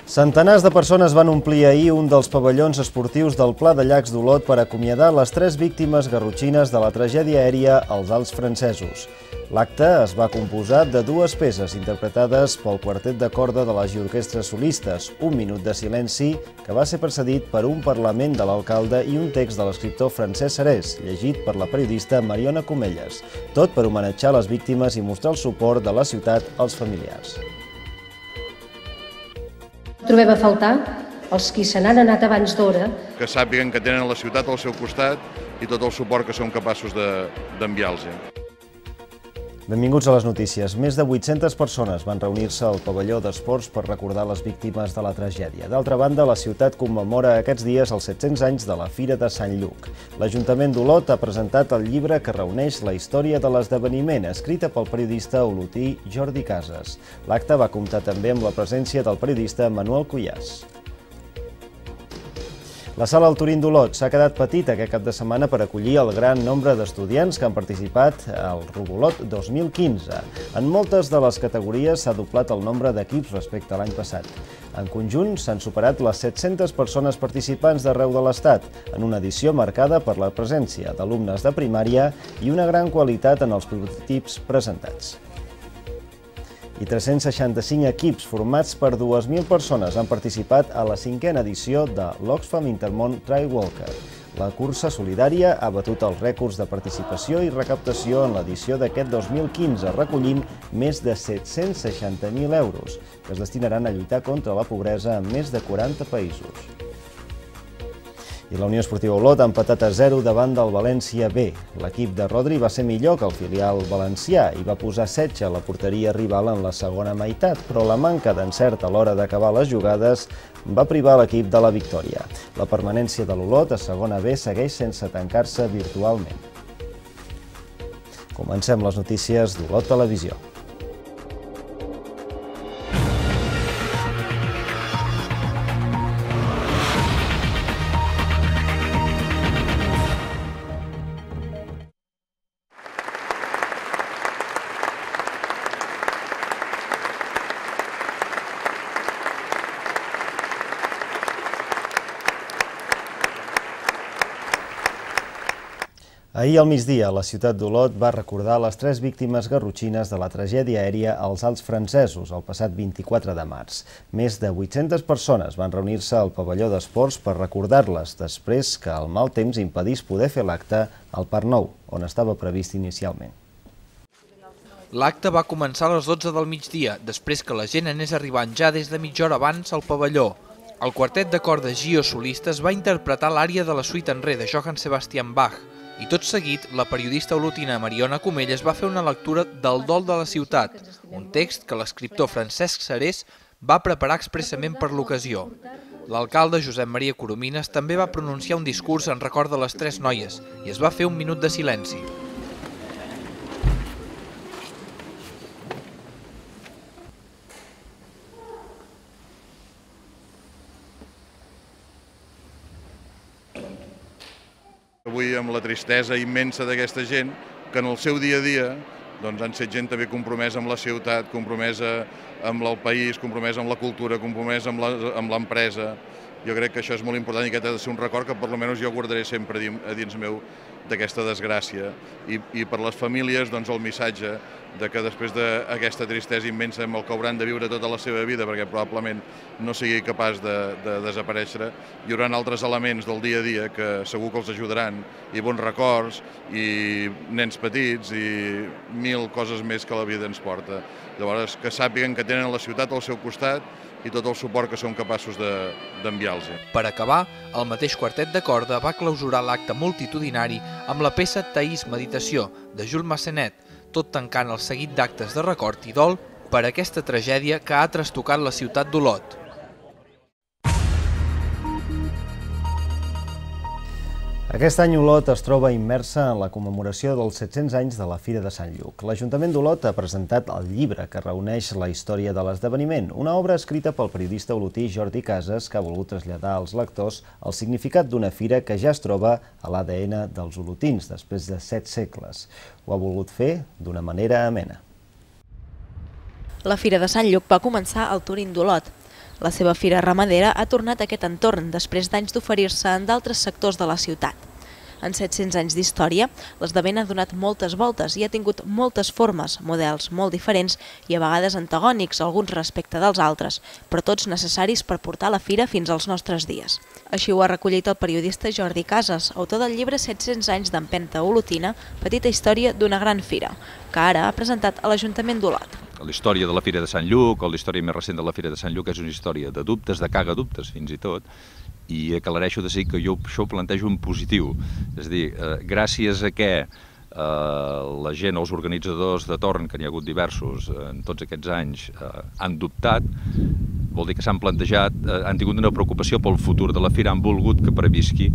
Centenars de persones van omplir ahir un dels pavellons esportius del Pla de Llacs d'Olot per acomiadar les 3 víctimes garrotxines de la tragèdia aèria als Alps francesos. L'acte es va composar de 2 peces interpretades pel quartet de corda de les orquestres solistes, un minut de silenci que va ser precedit per un parlament de l'alcalde i un text de l'escriptor Francesc Serés, llegit per la periodista Mariona Comelles, tot per homenatjar les víctimes i mostrar el suport de la ciutat als familiars. Trobem a faltar els qui se n'han anat abans d'hora. Que sàpiguen que tenen la ciutat al seu costat i tot el suport que som capaços d'enviar-los. Benvinguts a les notícies. Més de 800 persones van reunir-se al pavelló d'esports per recordar les víctimes de la tragèdia. D'altra banda, la ciutat commemora aquests dies els 700 anys de la Fira de Sant Lluc. L'Ajuntament d'Olot ha presentat el llibre que reuneix la història de l'esdeveniment, escrita pel periodista olotí Jordi Casas. L'acte va comptar també amb la presència del periodista Manuel Cuyàs. La sala Alturín d'Olot s'ha quedat petita aquest cap de setmana per acollir el gran nombre d'estudiants que han participat al Robolot 2015. En moltes de les categories s'ha doblat el nombre d'equips respecte a l'any passat. En conjunt, s'han superat les 700 persones participants d'arreu de l'Estat, en una edició marcada per la presència d'alumnes de primària i una gran qualitat en els prototips presentats. I 365 equips formats per 2.000 persones han participat a la 5a edició de l'Oxfam Intermón Trail Walker. La cursa solidària ha batut els rècords de participació i recaptació en l'edició d'aquest 2015, recollint més de 760.000 euros, que es destinaran a lluitar contra la pobresa en més de 40 països. I la Unió Esportiva Olot ha empatat a 0 davant del València B. L'equip de Rodri va ser millor que el filial valencià i va posar setge a la porteria rival en la segona meitat, però la manca d'encert a l'hora d'acabar les jugades va privar l'equip de la victòria. La permanència de l'Olot a segona B segueix sense tancar-se virtualment. Comencem les notícies d'Olot Televisió. Ahir al migdia, la ciutat d'Olot va recordar les 3 víctimes garrotxines de la tragèdia aèria als Alps francesos el passat 24 de març. Més de 800 persones van reunir-se al pavelló d'esports per recordar-les després que el mal temps impedís poder fer l'acte al Parc Nou, on estava previst inicialment. L'acte va començar a les 12 del migdia, després que la gent anés arribant ja des de mitja hora abans al pavelló. El quartet de corda Gio Solistes va interpretar l'ària de la suite en re de Johann Sebastian Bach, i tot seguit, la periodista olotina Mariona Comelles va fer una lectura del Dol de la ciutat, un text que l'escriptor Francesc Serés va preparar expressament per l'ocasió. L'alcalde Josep Maria Coromines també va pronunciar un discurs en record de les 3 noies i es va fer un minut de silenci. Avui amb la tristesa immensa d'aquesta gent que en el seu dia a dia han set gent també compromesa amb la ciutat, compromesa amb el país, compromesa amb la cultura, compromesa amb l'empresa. Jo crec que això és molt important i aquest ha de ser un record que per almenys jo guardaré sempre a dins meu d'aquesta desgràcia. I per les famílies el missatge que després d'aquesta tristesa immensa amb el que hauran de viure tota la seva vida, perquè probablement no sigui capaç de desaparèixer, hi haurà altres elements del dia a dia que segur que els ajudaran, i bons records, i nens petits, i 1000 coses més que la vida ens porta. Llavors, que sàpiguen que tenen la ciutat al seu costat i tot el suport que som capaços d'enviar-los. Per acabar, el mateix quartet de corda va clausurar l'acte multitudinari amb la peça Taís Meditació, de Jules Massenet, tot tancant el seguit d'actes de record i dol per aquesta tragèdia que ha trastocat la ciutat d'Olot. Aquest any Olot es troba immersa en la commemoració dels 700 anys de la Fira de Sant Lluc. L'Ajuntament d'Olot ha presentat el llibre que reuneix la història de l'esdeveniment, una obra escrita pel periodista olotí Jordi Casas que ha volgut traslladar als lectors el significat d'una fira que ja es troba a l'ADN dels olotins després de 7 segles. Ho ha volgut fer d'una manera amena. La Fira de Sant Lluc va començar al Turín d'Olot. La seva fira ramadera ha tornat a aquest entorn després d'anys d'oferir-se en d'altres sectors de la ciutat. En 700 anys d'història, l'esdeveniment ha donat moltes voltes i ha tingut moltes formes, models molt diferents i a vegades antagònics, alguns respecte dels altres, però tots necessaris per portar la fira fins als nostres dies. Així ho ha recollit el periodista Jordi Casas, autor del llibre 700 anys d'empenta olotina, petita història d'una gran fira, que ara ha presentat a l'Ajuntament d'Olot. La història de la Fira de Sant Lluc o la història més recent de la Fira de Sant Lluc és una història de dubtes, de cagadubtes fins i tot, i aclareixo de dir que jo això ho plantejo en positiu. És a dir, gràcies a què la gent, els organitzadors de torn, que n'hi ha hagut diversos en tots aquests anys, han dubtat, vol dir que s'han plantejat, han tingut una preocupació pel futur de la Fira, han volgut que previsqui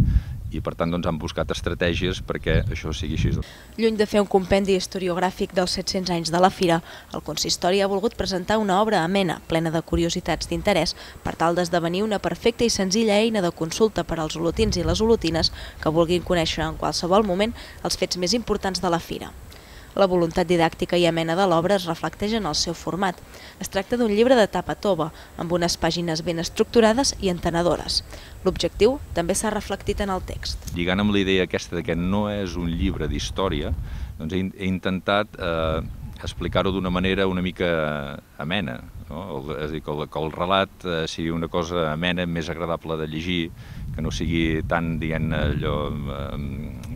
i per tant han buscat estratègies perquè això sigui així. Lluny de fer un compendi historiogràfic dels 700 anys de la Fira, el consistori ha volgut presentar una obra amena, plena de curiositats d'interès, per tal d'esdevenir una perfecta i senzilla eina de consulta per als olotins i les olotines que vulguin conèixer en qualsevol moment els fets més importants de la Fira. La voluntat didàctica i amena de l'obra es reflecteix en el seu format. Es tracta d'un llibre de tapa tova, amb unes pàgines ben estructurades i entenedores. L'objectiu també s'ha reflectit en el text. Lligant amb la idea aquesta de que no és un llibre d'història, doncs he intentat explicar-ho d'una manera una mica amena, no? És a dir, que el relat sigui una cosa amena, més agradable de llegir, que no sigui tan, diguem-ne, allò,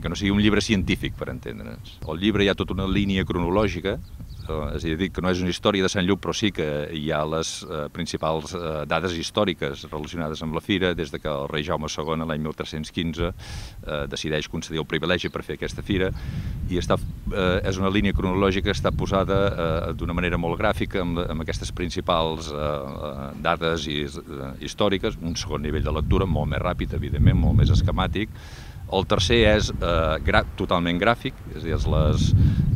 que no sigui un llibre científic, per entendre'ns. Al llibre hi ha tota una línia cronològica, és a dir, que no és una història de Sant Lluc, però sí que hi ha les principals dades històriques relacionades amb la fira, des que el rei Jaume II, l'any 1315, decideix concedir el privilegi per fer aquesta fira, i és una línia cronològica que està posada d'una manera molt gràfica, amb aquestes principals dades històriques, un segon nivell de lectura, molt més ràpid, evidentment, molt més esquemàtic. El tercer és totalment gràfic, és a dir,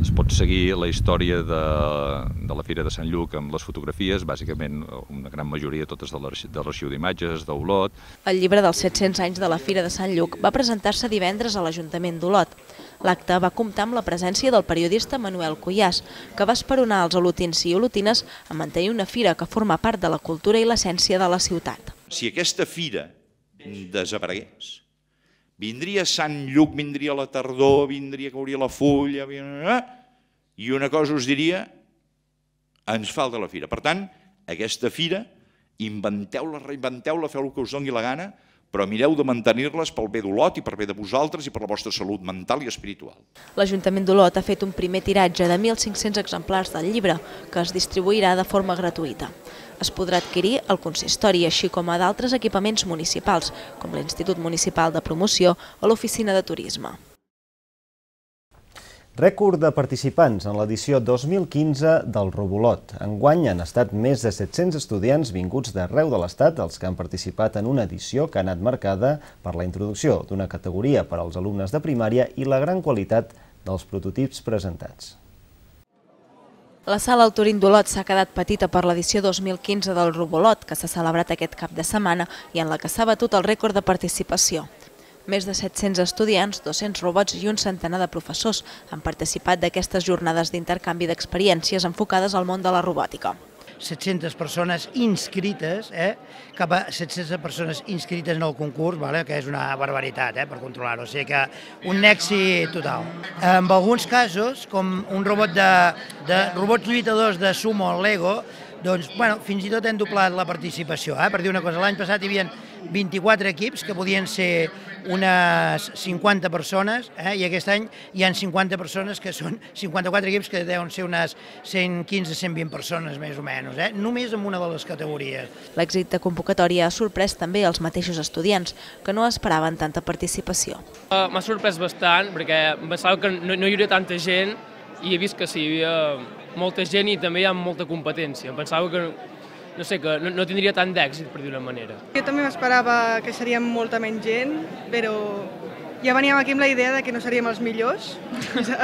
es pot seguir la història de la Fira de Sant Lluc amb les fotografies, bàsicament una gran majoria totes de l'arxiu d'imatges, d'Olot. El llibre dels 700 anys de la Fira de Sant Lluc va presentar-se divendres a l'Ajuntament d'Olot. L'acte va comptar amb la presència del periodista Manuel Cuyàs, que va esperonar els olotins i olotines a mantenir una fira que forma part de la cultura i l'essència de la ciutat. Si aquesta fira desaparegués, vindria Sant Lluc, vindria la tardor, vindria que hauria la fulla, i una cosa us diria, ens falta la fira. Per tant, aquesta fira, inventeu-la, reinventeu-la, feu el que us doni la gana, però mireu de mantenir-les pel bé d'Olot i per bé de vosaltres i per la vostra salut mental i espiritual. L'Ajuntament d'Olot ha fet un primer tiratge de 1.500 exemplars del llibre, que es distribuirà de forma gratuïta. Es podrà adquirir al consistori, així com a d'altres equipaments municipals, com l'Institut Municipal de Promoció o l'Oficina de Turisme. Rècord de participants en l'edició 2015 del Robolot. Enguany han estat més de 700 estudiants vinguts d'arreu de l'Estat els que han participat en una edició que ha anat marcada per la introducció d'una categoria per als alumnes de primària i la gran qualitat dels prototips presentats. La sala Alturín d'Olot s'ha quedat petita per l'edició 2015 del Robolot, que s'ha celebrat aquest cap de setmana i en la que s'ha batut el rècord de participació. Més de 700 estudiants, 200 robots i un centenar de professors han participat d'aquestes jornades d'intercanvi d'experiències enfocades al món de la robòtica. 700 persones inscrites, cap a 700 persones inscrites en el concurs, que és una barbaritat per controlar-ho, o sigui que un èxit total. En alguns casos, com un robot de robots lluitadors de sumo al Lego, doncs, fins i tot hem doblat la participació. Per dir una cosa, l'any passat hi havia 24 equips que podien ser unes 50 persones i aquest any hi ha 50 persones que són 54 equips que deuen ser unes 115-120 persones més o menys, només en una de les categories. L'èxit de convocatòria ha sorprès també els mateixos estudiants, que no esperaven tanta participació. M'ha sorprès bastant perquè pensava que no hi hauria tanta gent i he vist que sí, hi havia molta gent i també hi ha molta competència. Em pensava que no tindria tant d'èxit, per dir una manera. Jo també m'esperava que seríem molta menys gent, però ja veníem aquí amb la idea que no seríem els millors.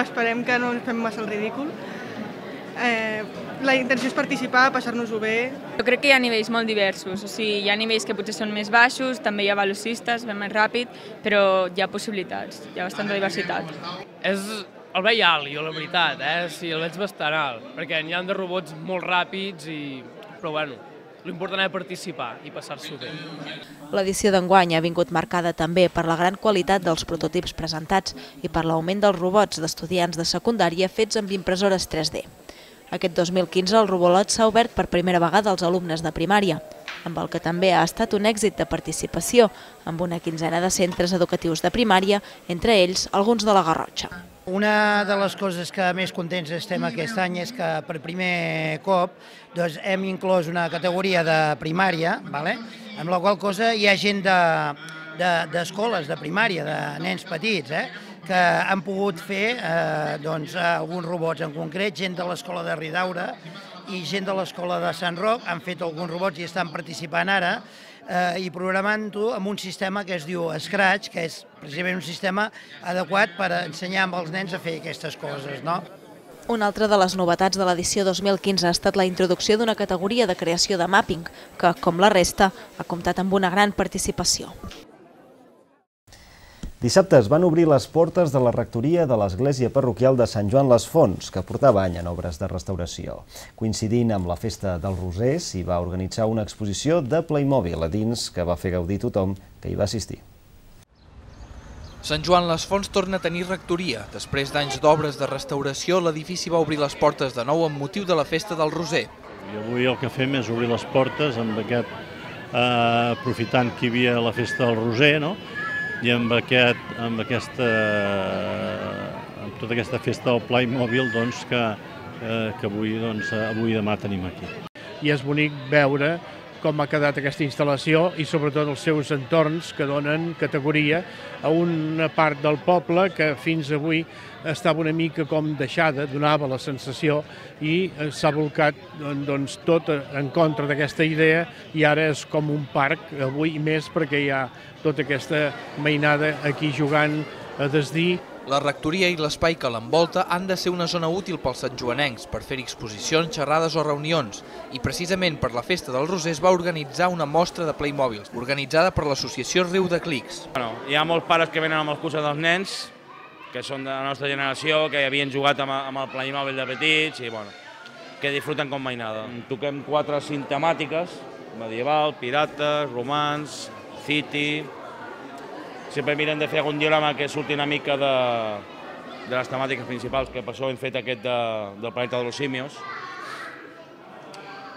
Esperem que no ens fem massa el ridícul. La intenció és participar, passar-nos-ho bé. Jo crec que hi ha nivells molt diversos, o sigui, hi ha nivells que potser són més baixos, també hi ha velocistes, van més ràpid, però hi ha possibilitats, hi ha bastanta diversitat. El veig alt, jo, la veritat, sí, el veig bastant alt, perquè n'hi ha de robots molt ràpids, però bueno, l'important és participar i passar-s'ho bé. L'edició d'enguany ha vingut marcada també per la gran qualitat dels prototips presentats i per l'augment dels robots d'estudiants de secundària fets amb impressores 3D. Aquest 2015 el Robolot s'ha obert per primera vegada als alumnes de primària, amb el que també ha estat un èxit de participació, amb una quinzena de centres educatius de primària, entre ells alguns de la Garrotxa. Una de les coses que més contents estem aquest any és que per primer cop hem inclòs una categoria de primària, amb la qual cosa hi ha gent d'escoles de primària, de nens petits, que han pogut fer alguns robots en concret, gent de l'escola de Ridaura i gent de l'escola de Sant Roc han fet alguns robots i estan participant ara i programant-ho amb un sistema que es diu Scratch, que és precisament un sistema adequat per ensenyar als nens a fer aquestes coses, no? Una altra de les novetats de l'edició 2015 ha estat la introducció d'una categoria de creació de mapping, que, com la resta, ha comptat amb una gran participació. Dissabte es van obrir les portes de la rectoria de l'església parroquial de Sant Joan les Fonts, que portava any en obres de restauració. Coincidint amb la festa del Roser, s'hi va organitzar una exposició de Playmobil a dins que va fer gaudir tothom que hi va assistir. Sant Joan les Fonts torna a tenir rectoria. Després d'anys d'obres de restauració, l'edifici va obrir les portes de nou amb motiu de la festa del Roser. I avui el que fem és obrir les portes amb aquest, aprofitant que hi havia la festa del Roser, no? I amb tota aquesta festa del Playmobil que avui i demà tenim aquí. I és bonic veure com ha quedat aquesta instal·lació i sobretot els seus entorns que donen categoria a una part del poble que fins avui estava una mica com deixada, donava la sensació i s'ha volcat tot en contra d'aquesta idea i ara és com un parc, avui més perquè hi ha tota aquesta mainada aquí jugant a desdir. La rectoria i l'espai que l'envolta han de ser una zona útil pels santjoanencs per fer exposicions, xerrades o reunions. I precisament per la festa del Roser es va organitzar una mostra de Playmobils, organitzada per l'associació Riu de Clics. Hi ha molts pares que venen amb els cursos dels nens, que són de la nostra generació, que havien jugat amb el Playmobil de petits i que disfruten com mai nada. Toquem 4 cinc temàtiques, medieval, pirates, romans, city. Sempre mirem de fer algun diorama que surti una mica de les temàtiques principals, que per això hem fet aquest del planeta dels simios.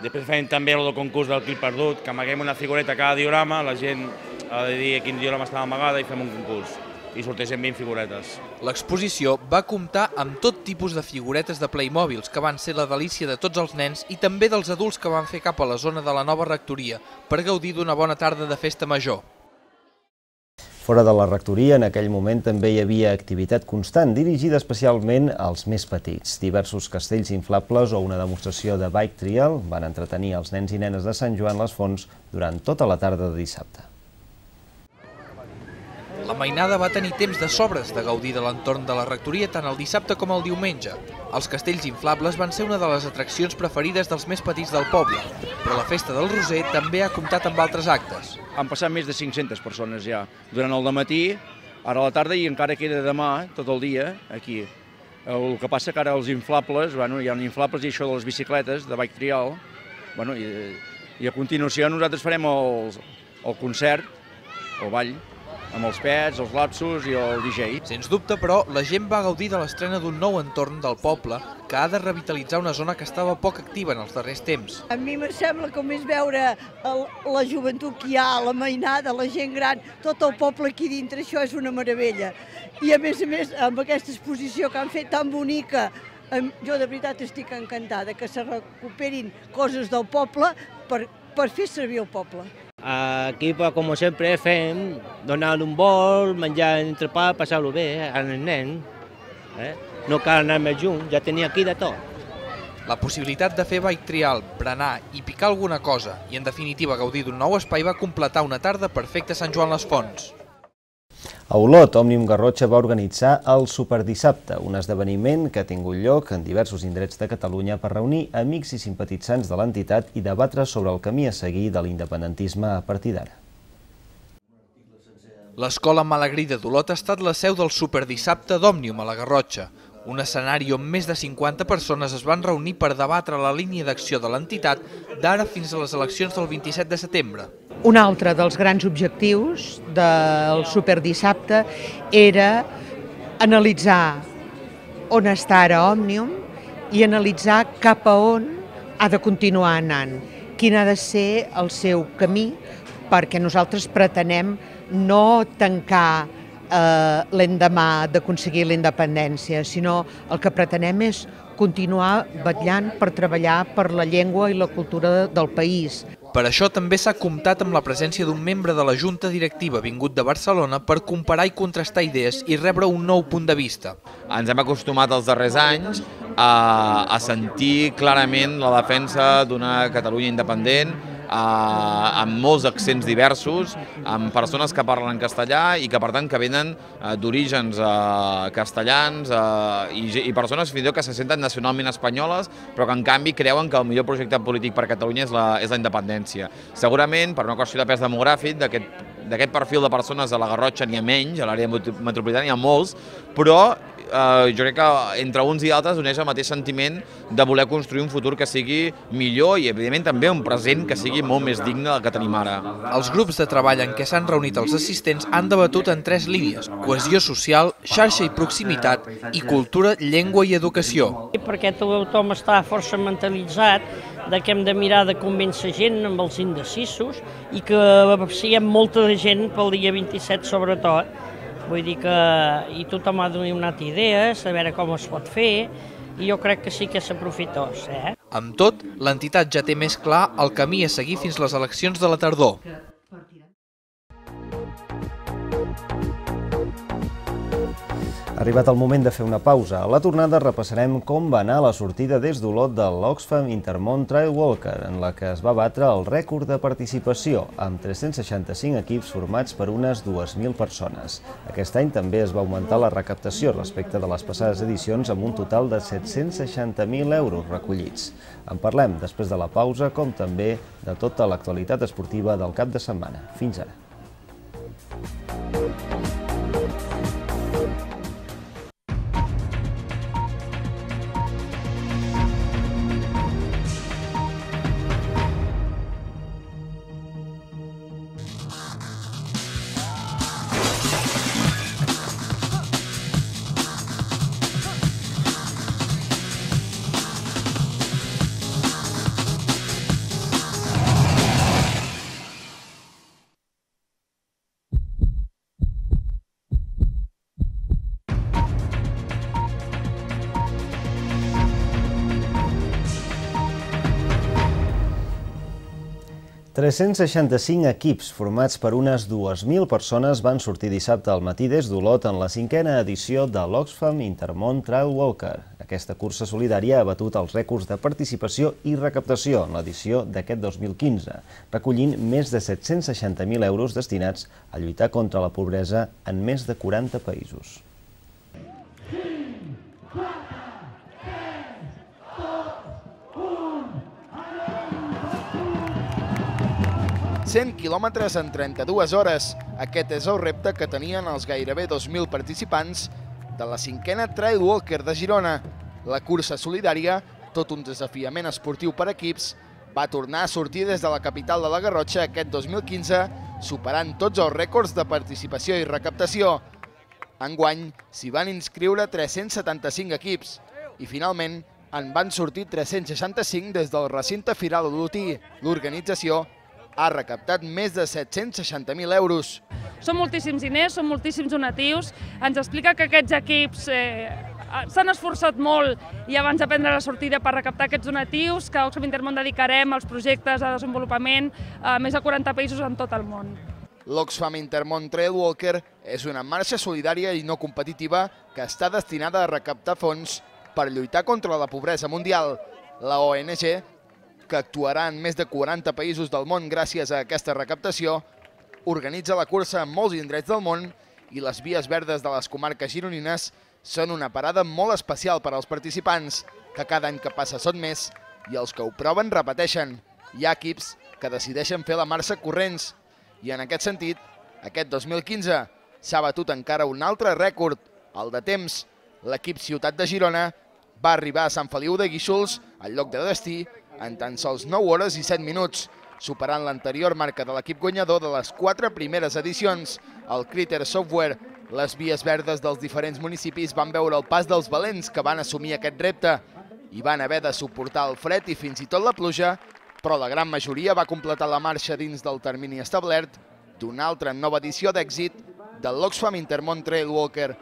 Després fem també el concurs del Clip Perdut, que amaguem una figureta a cada diorama, la gent ha de dir quin diorama estava amagada i fem un concurs. I sorteixen 20 figuretes. L'exposició va comptar amb tot tipus de figuretes de Playmobils, que van ser la delícia de tots els nens i també dels adults que van fer cap a la zona de la nova rectoria per gaudir d'una bona tarda de festa major. Fora de la rectoria, en aquell moment també hi havia activitat constant, dirigida especialment als més petits. Diversos castells inflables o una demostració de bike trial van entretenir els nens i nenes de Sant Joan les Fonts durant tota la tarda de dissabte. La mainada va tenir temps de sobres de gaudir de l'entorn de la rectoria tant el dissabte com el diumenge. Els castells inflables van ser una de les atraccions preferides dels més petits del poble, però la festa del Roser també ha comptat amb altres actes. Han passat més de 500 persones ja durant el dematí, ara a la tarda i encara queda demà tot el dia aquí. El que passa que ara els inflables, hi ha inflables i això de les bicicletes, de bike trial, i a continuació nosaltres farem el concert, el ball, amb els pets, els lapsos i el DJ. Sens dubte, però, la gent va gaudir de l'estrena d'un nou entorn del poble que ha de revitalitzar una zona que estava poc activa en els darrers temps. A mi em sembla com és veure la joventut que hi ha, la mainada, la gent gran, tot el poble aquí dintre, això és una meravella. I a més, amb aquesta exposició que han fet tan bonica, jo de veritat estic encantada que se recuperin coses del poble per fer servir el poble. Aquí, com sempre, fem, donar un vol, menjar entrepà, passar-ho bé als nens. No cal anar més junts, ja tenia aquí de tot. La possibilitat de fer bike trial, berenar i picar alguna cosa i, en definitiva, gaudir d'un nou espai va completar una tarda perfecta a Sant Joan les Fonts. A Olot, Òmnium Garrotxa va organitzar el Superdissabte, un esdeveniment que ha tingut lloc en diversos indrets de Catalunya per reunir amics i simpatitzants de l'entitat i debatre sobre el camí a seguir de l'independentisme a partir d'ara. L'Escola Malagrida d'Olot ha estat la seu del Superdissabte d'Òmnium a la Garrotxa, un escenari on més de 50 persones es van reunir per debatre la línia d'acció de l'entitat d'ara fins a les eleccions del 27 de setembre. Un altre dels grans objectius del Superdissabte era analitzar on està ara Òmnium i analitzar cap a on ha de continuar anant, quin ha de ser el seu camí, perquè nosaltres pretenem no tancar l'endemà d'aconseguir la independència, sinó el que pretenem és continuar vetllant per treballar per la llengua i la cultura del país. Per això també s'ha comptat amb la presència d'un membre de la Junta Directiva vingut de Barcelona per comparar i contrastar idees i rebre un nou punt de vista. Ens hem acostumat els darrers anys a sentir clarament la defensa d'una Catalunya independent, amb molts accents diversos, amb persones que parlen castellà i que per tant que venen d'orígens castellans i persones fins i tot que se senten nacionalment espanyoles però que en canvi creuen que el millor projecte polític per a Catalunya és la independència. Segurament per una qüestió de pes demogràfic d'aquest perfil de persones a la Garrotxa n'hi ha menys, a l'àrea metropolitana n'hi ha molts, però jo crec que entre uns i altres uneix el mateix sentiment de voler construir un futur que sigui millor i evidentment també un present que sigui molt més digne del que tenim ara. Els grups de treball en què s'han reunit els assistents han debatut en 3 línies: cohesió social, xarxa i proximitat i cultura, llengua i educació. Perquè tothom està força mentalitzat que hem de mirar de convèncer gent amb els indecisos i que siguem molta gent pel dia 27 sobretot. Vull dir que tothom ha donat idees, a veure com es pot fer, i jo crec que sí que és aprofitós. Amb tot, l'entitat ja té més clar el camí a seguir fins les eleccions de la tardor. Ha arribat el moment de fer una pausa. A la tornada repassarem com va anar la sortida des d'Olot de l'Oxfam Intermón Trail Walker, en la que es va batre el rècord de participació, amb 365 equips formats per unes 2.000 persones. Aquest any també es va augmentar la recaptació respecte de les passades edicions amb un total de 760.000 euros recollits. En parlem després de la pausa, com també de tota l'actualitat esportiva del cap de setmana. Fins ara. ...365 equips formats per unes 2.000 persones van sortir dissabte al matí des d'Olot en la 5a edició de l'Oxfam Intermón Trail Walker. Aquesta cursa solidària ha batut els rècords de participació i recaptació en l'edició d'aquest 2015, recollint més de 760.000 euros destinats a lluitar contra la pobresa en més de 40 països. 100 quilòmetres en 32 hores. Aquest és el repte que tenien els gairebé 2.000 participants de la 5a Trail Walker de Girona. La cursa solidària, tot un desafiament esportiu per equips, va tornar a sortir des de la capital de la Garrotxa aquest 2015, superant tots els rècords de participació i recaptació. Enguany s'hi van inscriure 375 equips i finalment en van sortir 365 des del recinte Firal Olotí. L'organització ha recaptat més de 760.000 euros. Són moltíssims diners, són moltíssims donatius. Ens explica que aquests equips s'han esforçat molt i abans de prendre la sortida per recaptar aquests donatius, que a Oxfam Intermón dedicarem als projectes de desenvolupament a més de 40 països en tot el món. L'Oxfam Intermón Trail Walker és una marxa solidària i no competitiva que està destinada a recaptar fons per lluitar contra la pobresa mundial. La ONG, que actuarà en més de 40 països del món gràcies a aquesta recaptació, organitza la cursa en molts indrets del món i les vies verdes de les comarques gironines són una parada molt especial per als participants, que cada any que passa són més i els que ho proven repeteixen. Hi ha equips que decideixen fer la marxa corrents i en aquest sentit, aquest 2015 s'ha batut encara un altre rècord, el de temps, L'equip Ciutat de Girona va arribar a Sant Feliu de Guíxols, al lloc de destí, en tan sols 9 hores i 7 minuts, superant l'anterior marca de l'equip guanyador de les 4 primeres edicions, el Critter Software. Les vies verdes dels diferents municipis van veure el pas dels valents que van assumir aquest repte i van haver de suportar el fred i fins i tot la pluja, però la gran majoria va completar la marxa dins del termini establert d'una altra nova edició d'èxit del l'Oxfam Intermont Trail Walker.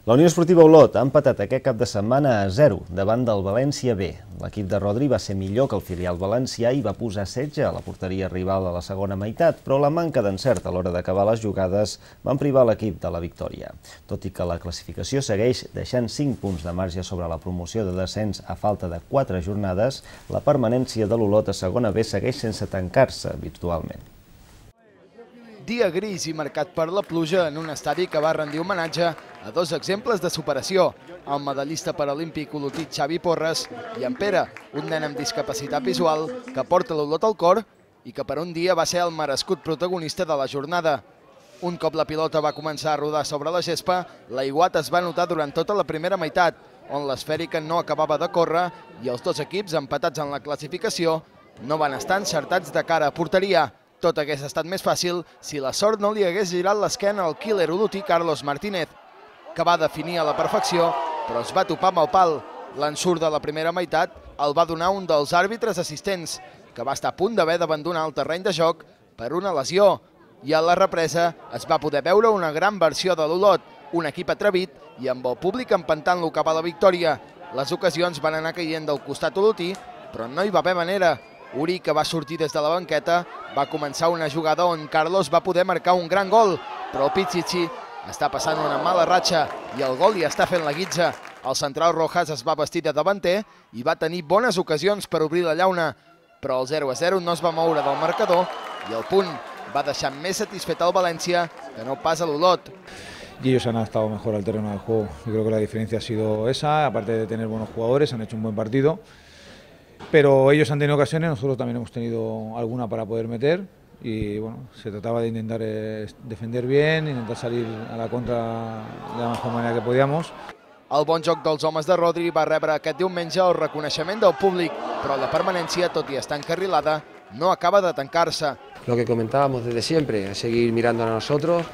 La Unió Esportiva Olot ha empatat aquest cap de setmana a 0 davant del València B. L'equip de Rodri va ser millor que el filial valencià i va posar setge a la porteria rival a la segona meitat, però la manca d'encert a l'hora d'acabar les jugades van privar l'equip de la victòria. Tot i que la classificació segueix deixant 5 punts de marge sobre la promoció de descens a falta de 4 jornades, la permanència de l'Olot a segona B segueix sense tancar-se virtualment. Dia gris i marcat per la pluja en un estadi que va rendir homenatge a 2 exemples de superació, el medallista paralímpic olotí Xavi Porres i en Pere, un nen amb discapacitat visual que porta l'Olot al cor i que per un dia va ser el merescut protagonista de la jornada. Un cop la pilota va començar a rodar sobre la gespa, l'aiguat es va notar durant tota la primera meitat, on l'esfèrica no acabava de córrer i els 2 equips, empatats en la classificació, no van estar encertats de cara a porteria. Tot hagués estat més fàcil si la sort no li hagués girat l'esquena al killer olotí Carlos Martínez, que va definir a la perfecció, però es va topar amb el pal. L'ensurt de la primera meitat el va donar un dels àrbitres assistents, que va estar a punt d'haver d'abandonar el terreny de joc per una lesió. I a la represa es va poder veure una gran versió de l'Olot, un equip atrevit i amb el públic empentant-lo cap a la victòria. Les ocasions van anar caient del costat olotí, però no hi va haver manera. Uri, que va sortir des de la banqueta, va començar una jugada on Carlos va poder marcar un gran gol, però Pichichi està passant una mala ratxa i el gol li està fent la guitza. El central Rojas es va vestir de davanter i va tenir bones ocasions per obrir la llauna, però el 0-0 no es va moure del marcador i el punt va deixar més satisfet al València que no pas a l'Olot. Y ellos han estado mejor al terreno del juego. Yo creo que la diferencia ha sido esa, aparte de tener buenos jugadores, han hecho un buen partido. Pero ellos han tenido ocasiones, nosotros también hemos tenido alguna para poder meter y bueno, se trataba de intentar defender bien, intentar salir a la contra de la mejor manera que podíamos. El bon joc dels homes de Rodri va rebre aquest diumenge el reconeixement del públic, però la permanència, tot i estar encarrilada, no acaba de tancar-se. Lo que comentábamos desde siempre, seguir mirando a nosotros,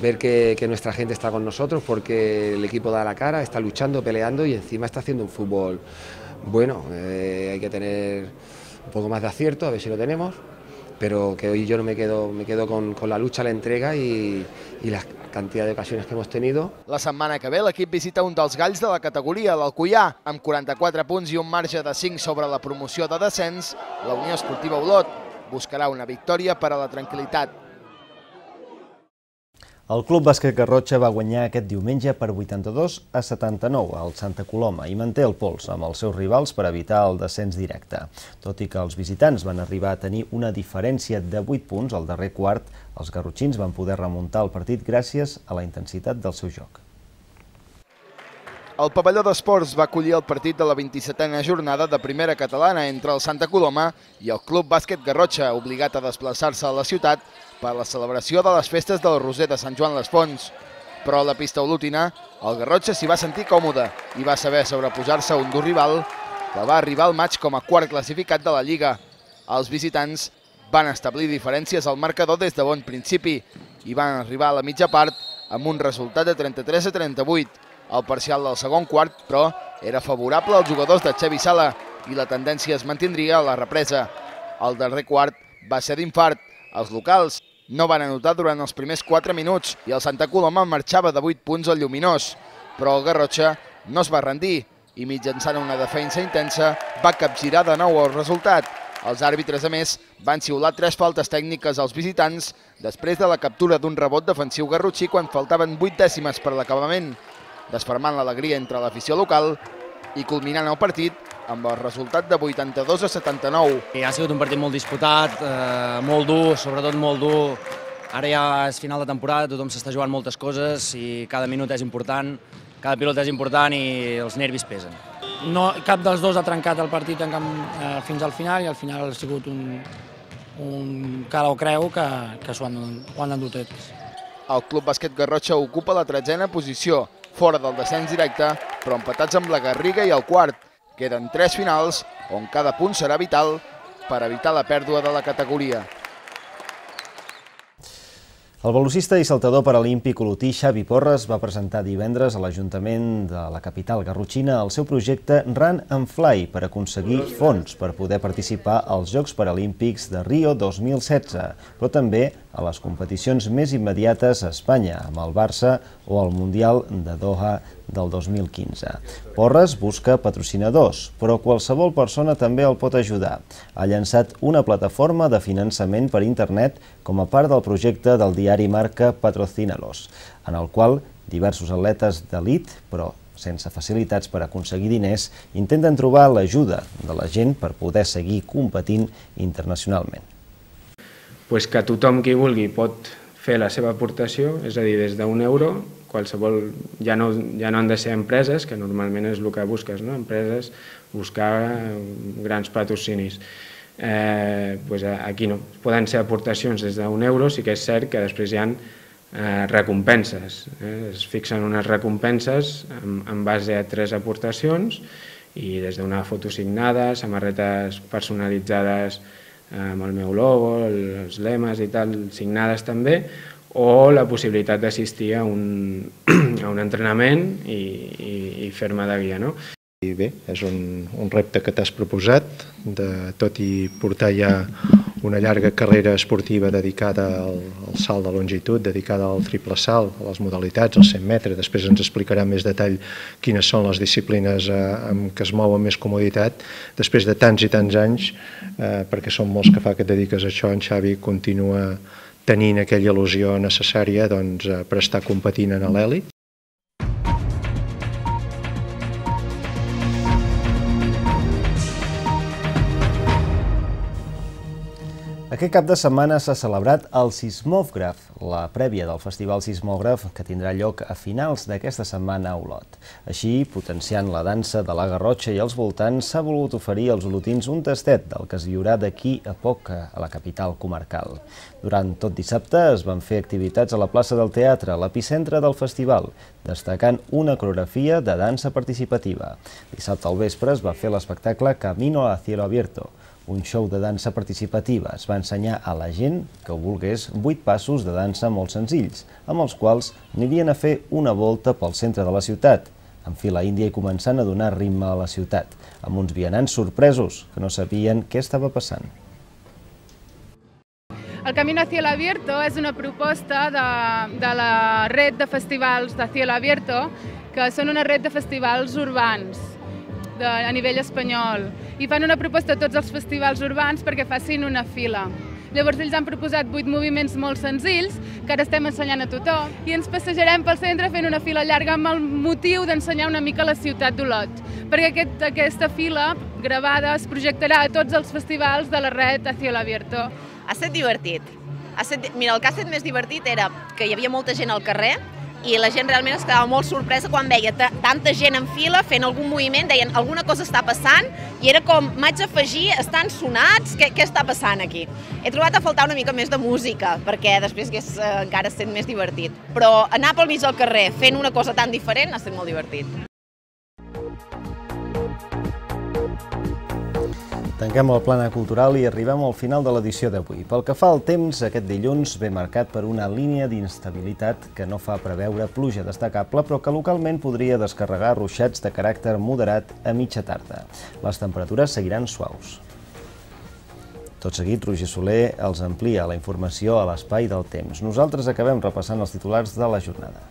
ver que nuestra gente está con nosotros porque el equipo da la cara, está luchando, peleando y encima está haciendo un fútbol bueno. Hay que tener un poco más de acierto, a ver si lo tenemos, pero que hoy yo no me quedo con la lucha, la entrega y la cantidad de ocasiones que hemos tenido. La setmana que ve l'equip visita un dels galls de la categoria, l'Alcoià, amb 44 punts i un marge de 5 sobre la promoció de descens. La Unió Esportiva Olot buscarà una victòria per a la tranquil·litat. El Club Bàsquet Garrotxa va guanyar aquest diumenge per 82-79 al Santa Coloma i manté el pols amb els seus rivals per evitar el descens directe. Tot i que els visitants van arribar a tenir una diferència de 8 punts al darrer quart, els garrotxins van poder remuntar el partit gràcies a la intensitat del seu joc. El pavelló d'esports va acollir el partit de la 27a jornada de primera catalana entre el Santa Coloma i el Club Bàsquet Garrotxa, obligat a desplaçar-se a la ciutat per la celebració de les festes del Roser de Sant Joan les Fonts. Però a la pista olotina, el Garrotxa s'hi va sentir còmode i va saber sobreposar-se a un dur rival que va arribar al maig com a quart classificat de la Lliga. Els visitants van establir diferències al marcador des de bon principi i van arribar a la mitja part amb un resultat de 33-38. El parcial del segon quart, però, era favorable als jugadors de Xavi Sala i la tendència es mantindria a la represa. El darrer quart va ser d'infart. Els locals no van anotar durant els primers 4 minuts i el Santa Coloma marxava de 8 punts al Lluminós. Però el Garrotxa no es va rendir i mitjançant una defensa intensa va capgirar de nou el resultat. Els àrbitres, a més, van xiular 3 faltes tècniques als visitants després de la captura d'un rebot defensiu garrotxí quan faltaven 8 dècimes per l'acabament, desfermant l'alegria entre l'afició local i culminant el partit amb el resultat de 82-79. Ha sigut un partit molt disputat, molt dur, sobretot molt dur. Ara ja és final de temporada, tothom s'està jugant moltes coses i cada minut és important, cada pilota és important i els nervis pesen. No, cap dels dos ha trencat el partit fins al final i al final ha sigut un cara o creu que ho han endut tots. El Club Bàsquet Garrotxa ocupa la 13a posició, fora del descens directe, però empatats amb la Garriga i el Quart. Queden 3 finals, on cada punt serà vital per evitar la pèrdua de la categoria. El velocista i saltador paralímpic olotí Xavi Porres va presentar divendres a l'Ajuntament de la capital garrotxina el seu projecte Run and Fly per aconseguir fons per poder participar als Jocs Paralímpics de Rio 2016, però també a les competicions més immediates a Espanya, amb el Barça o el Mundial de Doha del 2015. Porres busca patrocinadors, però qualsevol persona també el pot ajudar. Ha llançat una plataforma de finançament per internet com a part del projecte del diari Marca Patrocínalos, en el qual diversos atletes d'elit, però sense facilitats per aconseguir diners, intenten trobar l'ajuda de la gent per poder seguir competint internacionalment. Que tothom qui vulgui pot fer la seva aportació, és a dir, des d'1 euro, qualsevol, ja no han de ser empreses, que normalment és el que busques, empreses, buscar grans patrocinis. Aquí no, poden ser aportacions des d'1 euro, sí que és cert que després hi ha recompenses, es fixen unes recompenses en base a 3 aportacions i des d'una foto signada, samarretes personalitzades amb el meu logo, els lemes i tal, signades també, o la possibilitat d'assistir a un entrenament i fer-me de guia. Bé, és un repte que t'has proposat, tot i portar ja una llarga carrera esportiva dedicada al salt de longitud, dedicada al triple salt, a les modalitats, als 100 metres. Després ens explicarà més detall quines són les disciplines amb què es mou amb més comoditat. Després de tants i tants anys, perquè són molts que fa que et dediques a això, en Xavi continua tenint aquella il·lusió necessària per estar competint en l'elit. Aquest cap de setmana s'ha celebrat el Sismògraf, la prèvia del Festival Sismògraf que tindrà lloc a finals d'aquesta setmana a Olot. Així, potenciant la dansa de la Garrotxa i els voltants, s'ha volgut oferir als olotins un tastet del que es viurà d'aquí a poc a la capital comarcal. Durant tot dissabte es van fer activitats a la plaça del Teatre, l'epicentre del festival, destacant una coreografia de dansa participativa. Dissabte al vespre es va fer l'espectacle Camino a Cielo Abierto, un show de dansa participativa. Es va ensenyar a la gent que ho volgués 8 passos de dansa molt senzills, amb els quals anirien a fer una volta pel centre de la ciutat, en fila índia i començant a donar ritme a la ciutat, amb uns vianants sorpresos que no sabien què estava passant. El Camino a Cielo Abierto és una proposta de la red de festivals de Cielo Abierto, que són una red de festivals urbans a nivell espanyol, i fan una proposta a tots els festivals urbans perquè facin una fila. Llavors ells han proposat 8 moviments molt senzills que ara estem ensenyant a tothom i ens passejarem pel centre fent una fila llarga amb el motiu d'ensenyar una mica la ciutat d'Olot, perquè aquesta fila gravada es projectarà a tots els festivals de la red a Cielo Abierto. Ha estat divertit. Mira, el que ha estat més divertit era que hi havia molta gent al carrer i la gent realment es quedava molt sorpresa quan veia tanta gent en fila fent algun moviment, deien alguna cosa està passant i era com, m'haig d'afegir, estan sonats, què està passant aquí? He trobat a faltar una mica més de música perquè després hagués encara estat més divertit, però anar pel mig del carrer fent una cosa tan diferent ha estat molt divertit. Tanquem el plana cultural i arribem al final de l'edició d'avui. Pel que fa al temps, aquest dilluns ve marcat per una línia d'inestabilitat que no fa preveure pluja destacable, però que localment podria descarregar ruixats de caràcter moderat a mitja tarda. Les temperatures seguiran suaus. Tot seguit, Roger Soler els amplia la informació a l'espai del temps. Nosaltres acabem repassant els titulars de la jornada.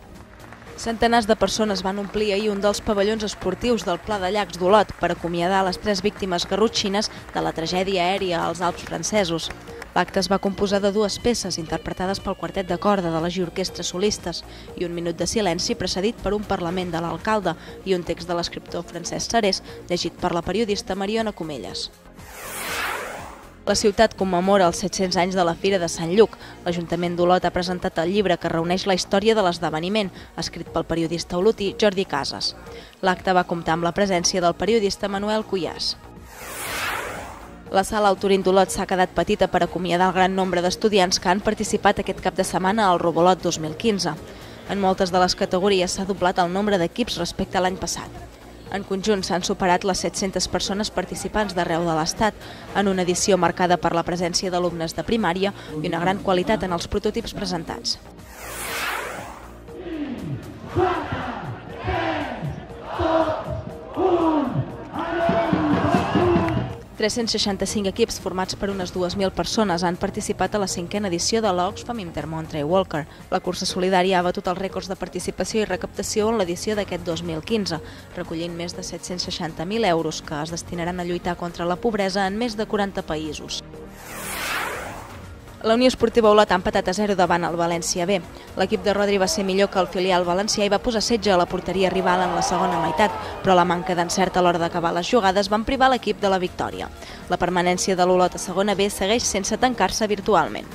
Centenars de persones van omplir ahir un dels pavellons esportius del Pla de Llacs d'Olot per acomiadar les 3 víctimes garrotxines de la tragèdia aèria als Alps francesos. L'acte es va composar de 2 peces interpretades pel quartet de corda de les orquestres solistes i un minut de silenci precedit per un parlament de l'alcalde i un text de l'escriptor Francesc Sarés llegit per la periodista Mariona Comelles. La ciutat commemora els 700 anys de la Fira de Sant Lluc. L'Ajuntament d'Olot ha presentat el llibre que reuneix la història de l'esdeveniment, escrit pel periodista olotí Jordi Casas. L'acte va comptar amb la presència del periodista Manuel Cuyàs. La sala Autorín d'Olot s'ha quedat petita per acomiadar el gran nombre d'estudiants que han participat aquest cap de setmana al Robolot 2015. En moltes de les categories s'ha doblat el nombre d'equips respecte a l'any passat. En conjunt s'han superat les 700 persones participants d'arreu de l'Estat, en una edició marcada per la presència d'alumnes de primària i una gran qualitat en els prototips presentats. 365 equips formats per unes 2.000 persones han participat a la 5a edició de l'Oxfam Intermont Trail Walker. La cursa solidària ha batut els rècords de participació i recaptació en l'edició d'aquest 2015, recollint més de 760.000 euros que es destinaran a lluitar contra la pobresa en més de 40 països. La Unió Esportiva Olot ha empatat a 0 davant el València B. L'equip de Rodri va ser millor que el filial valencià i va posar setge a la porteria rival en la segona meitat, però la manca d'encert a l'hora d'acabar les jugades van privar l'equip de la victòria. La permanència de l'Olot a segona B segueix sense tancar-se virtualment.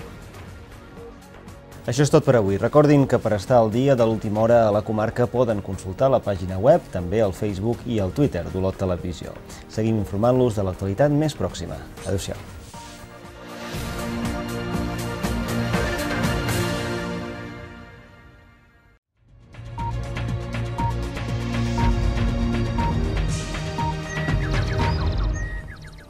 Això és tot per avui. Recordin que per estar al dia de l'última hora a la comarca poden consultar la pàgina web, també el Facebook i el Twitter d'Olot Televisió. Seguim informant-los de l'actualitat més pròxima. Adéu-siau.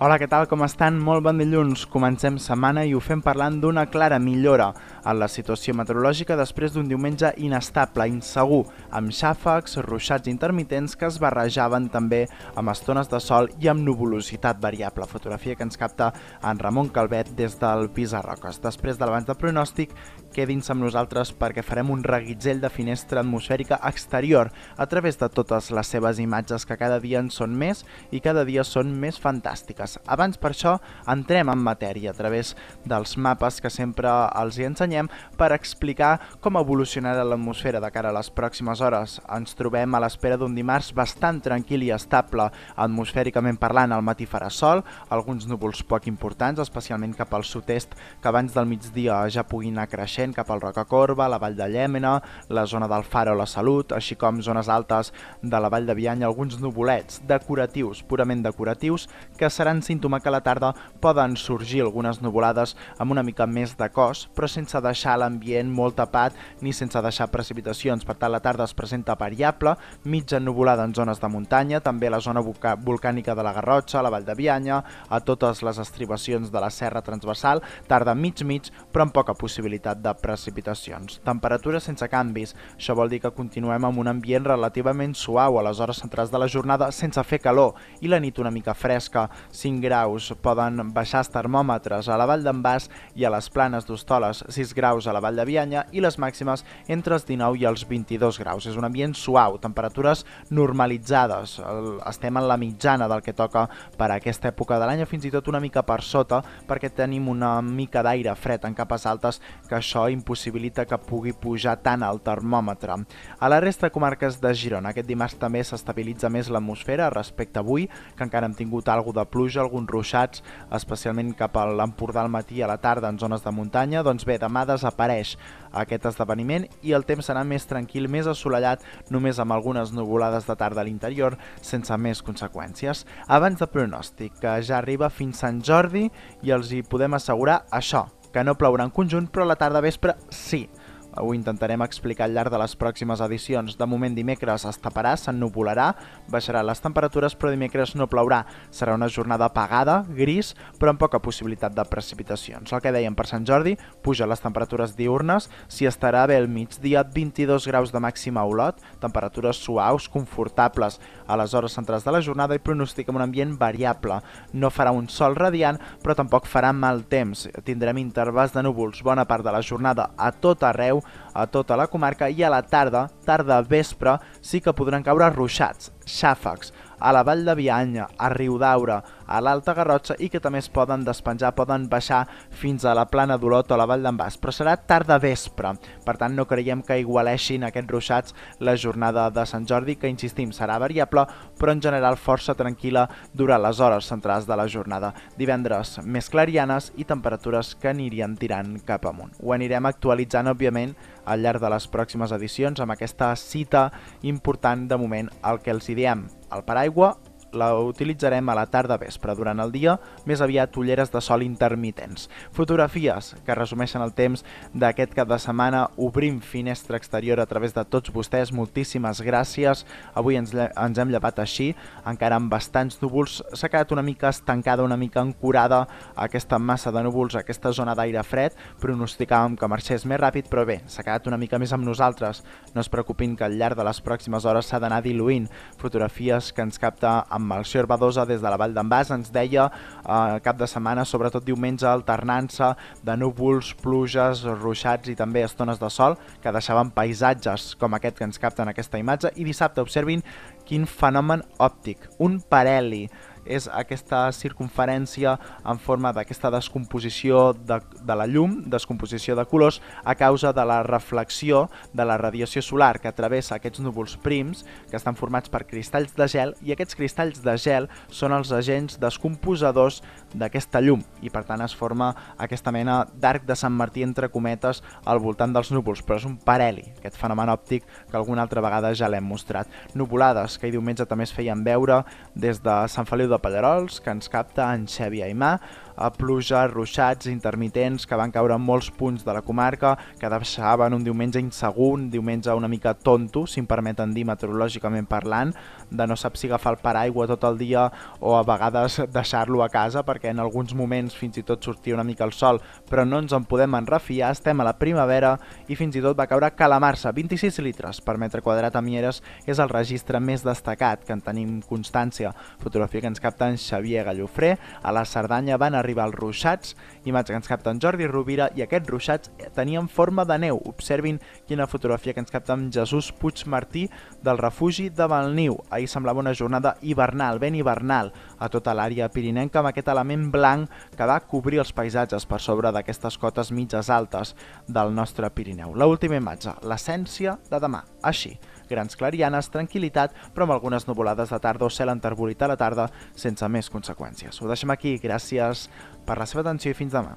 Hola, què tal? Com estan? Molt bon dilluns. Comencem setmana i ho fem parlant d'una clara millora en la situació meteorològica després d'un diumenge inestable, insegur, amb xàfecs, ruixats intermitents que es barrejaven també amb estones de sol i amb nuvolositat variable. Fotografia que ens capta en Ramon Calvet des del Pisarroques. Després de l'abans de pronòstic, quedin-se amb nosaltres perquè farem un reguitzell de finestra atmosfèrica exterior a través de totes les seves imatges que cada dia en són més i cada dia són més fantàstiques. Abans, per això, entrem en matèria a través dels mapes que sempre els hi ensenyem per explicar com evolucionarà l'atmosfera de cara a les pròximes hores. Ens trobem a l'espera d'un dimarts bastant tranquil i estable, atmosfèricament parlant. Al matí farà sol, alguns núvols poc importants, especialment cap al sud-est, que abans del migdia ja puguin anar creixent cap al Rocacorba, la Vall de Llémena, la zona del Faro o la Salut, així com zones altes de la Vall de Bianya, alguns nuvolets decoratius, purament decoratius, que seran símptoma que a la tarda poden sorgir algunes nuvolades amb una mica més de cos, però sense deixar l'ambient molt tapat ni sense deixar precipitacions. Per tant, la tarda es presenta variable, mitja nuvolada en zones de muntanya, també a la zona volcànica de la Garrotxa, a la Vall de Bianya, a totes les estribacions de la serra transversal, tarda mig-mig, però amb poca possibilitat de precipitacions. Temperatures sense canvis, això vol dir que continuem amb un ambient relativament suau a les hores centrals de la jornada sense fer calor i la nit una mica fresca, 5 graus, poden baixar els termòmetres a la Vall d'en Bas i a les Planes d'Hostoles, 6 graus a la Vall de Bianya i les màximes entre els 19 i els 22 graus. És un ambient suau, temperatures normalitzades, estem en la mitjana del que toca per a aquesta època de l'any, fins i tot una mica per sota, perquè tenim una mica d'aire fred en capes altes que això impossibilita que pugui pujar tant el termòmetre. A la resta de comarques de Girona, aquest dimarts també s'estabilitza més l'atmosfera respecte a avui, que encara hem tingut alguna de pluja, alguns ruixats, especialment cap a l'Empordà al matí i a la tarda en zones de muntanya. Doncs bé, demà desapareix aquest esdeveniment i el temps serà més tranquil, més assolellat, només amb algunes nuvolades de tarda a l'interior, sense més conseqüències. Abans de pronòstic, que ja arriba fins Sant Jordi i els hi podem assegurar això, que no plourà en conjunt, però a la tarda vespre sí. Ho intentarem explicar al llarg de les pròximes edicions. De moment dimecres es taparà, s'ennuvolarà, baixaran les temperatures, però dimecres no plourà. Serà una jornada apagada, gris, però amb poca possibilitat de precipitacions. El que dèiem per Sant Jordi, puja les temperatures diurnes, s'hi estarà bé el migdia, 22 graus de màxima a Olot, temperatures suaus, confortables a les hores centrals de la jornada i pronostica un ambient variable. No farà un sol radiant, però tampoc farà mal temps. Tindrem intervals de núvols bona part de la jornada a tot arreu, a tota la comarca, i a la tarda vespre, sí que podran caure ruixats, xàfecs, a la Vall de Bianya, a Riudaura, a l'Alta Garrotxa i que també es poden despenjar, poden baixar fins a la Plana d'Olot o la Vall d'en Bas, però serà tarda vespre. Per tant, no creiem que igualeixin aquests ruixats la jornada de Sant Jordi, que insistim, serà variable, però en general força tranquil·la durant les hores centrals de la jornada. Divendres més clarianes i temperatures que anirien tirant cap amunt. Ho anirem actualitzant, òbviament, al llarg de les pròximes edicions amb aquesta cita important de moment, el que els hi diem, el paraigua la utilitzarem a la tarda vespre. Durant el dia, més aviat ulleres de sol intermitents. Fotografies que resumeixen el temps d'aquest cap de setmana. Obrim finestra exterior a través de tots vostès. Moltíssimes gràcies. Avui ens hem llevat així, encara amb bastants núvols. S'ha quedat una mica estancada, una mica ancorada aquesta massa de núvols, aquesta zona d'aire fred. Pronosticàvem que marxés més ràpid, però bé, s'ha quedat una mica més amb nosaltres. No es preocupin que al llarg de les pròximes hores s'ha d'anar diluint. Fotografies que ens capta amb Melcior Badosa des de la Vall d'en Bas. Ens deia cap de setmana, sobretot diumenge, alternança de núvols, pluges, ruixats i també estones de sol que deixaven paisatges com aquest que ens capta en aquesta imatge. I dissabte, observin quin fenomen òptic, un parheli. És aquesta circumferència en forma d'aquesta descomposició de la llum, descomposició de colors, a causa de la reflexió de la radiació solar que travessa aquests núvols prims que estan formats per cristalls de gel, i aquests cristalls de gel són els agents descomposadors d'aquesta llum i per tant es forma aquesta mena d'arc de Sant Martí entre cometes al voltant dels núvols, però és un parheli, aquest fenomen òptic que alguna altra vegada ja l'hem mostrat. Nuvolades que diumenge també es feien veure des de Sant Feliu de Pallerols, que ens capta en Xavi Aimà, a pluja, ruixats intermitents que van caure en molts punts de la comarca, que deixaven un diumenge insegur, un diumenge una mica tonto, si em permeten dir meteorològicament parlant, de no sap si agafar el paraigua tot el dia o a vegades deixar-lo a casa, perquè en alguns moments fins i tot sortia una mica el sol, però no ens en podem enrefiar. Estem a la primavera i fins i tot va caure calamarsa, 26 litres per metre quadrat a Mieres, és el registre més destacat que en tenim constància. Fotografia que ens capta en Xavier Gallofré. A la Cerdanya van arribar els ruixats, imatge que ens capta en Jordi Rovira, i aquests ruixats tenien forma de neu. Observin quina fotografia que ens capta en Jesús Puigmartí del refugi de Valniu. Ahir semblava una jornada hivernal, ben hivernal, a tota l'àrea pirinenca, amb aquest element blanc que va cobrir els paisatges per sobre d'aquestes cotes mitges altes del nostre Pirineu. L'última imatge, l'essència de demà. Així, grans clarianes, tranquil·litat, però amb algunes nuvolades de tarda o cel enterbolit a la tarda sense més conseqüències. Ho deixem aquí, gràcies per la seva atenció i fins demà.